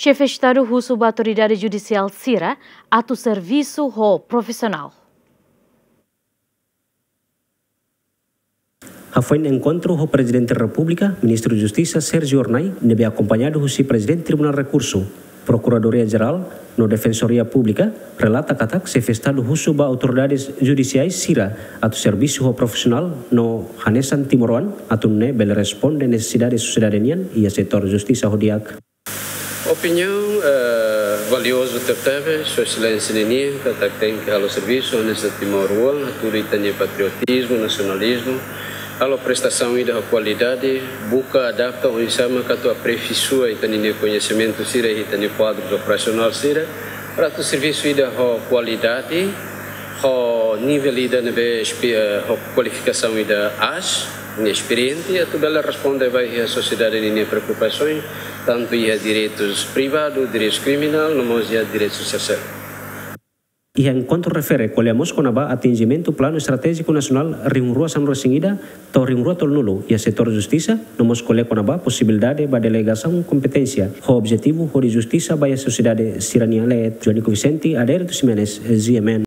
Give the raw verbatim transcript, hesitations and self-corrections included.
Xefe Estadu husu ba autoridade judisiál sira atu servisu ho profisionál. Hafoin enkontru ho Prezidente Repúblika, Ministru Justisa Sérgio Hornai, ne'ebé akompañadu husi Prezidente Tribunál Rekursu, Prokuradoria Jerál no Defensoria Públika, relata katak Xefe Estadu husu ba autoridades judisiais sira atu servisu ho profisionál no hanesan timoroan atu nune'e bele responde nesesidade sosiedade nian iha setór justisa ho di'ak. Opiniaun, eh, valiozu tebetebes, Sua Exelénsia nian, katak tenke halo servisu hanesan timoroan, hatudu ita-nia patriotizmu, nasionalizmu, halo prestasaun ida ho kualidade, buka adapta oinsá mak atu aperfeisoa ita-nia koñesimentu sira, ita-nia kuadru operasionál sira, para atu servisu ida ho kualidade, ho nivel ida ne'ebé espe-, eh, ho kualifikasaun ida aas, ne'e esperiente, atu bele responde ba iha sosiedade ninia preokupasaun, tantu iha direitus privadu, direitus kriminál, no mós iha direitus terseirus. Iha enkontru refere ko'alia mós kona-ba atinjimentu Planu Estratéjiku Nasionál rihun rua sanulu-resin-ida to'o rihun rua tolunulu iha setór justisa, no mós ko'alia kona-ba posibilidade ba delegasaun kompeténsia ho objetivu hodi justisa ba iha sosiedade sira-nian leet. Joanico Vicente, Adérito Ximenes, G M N.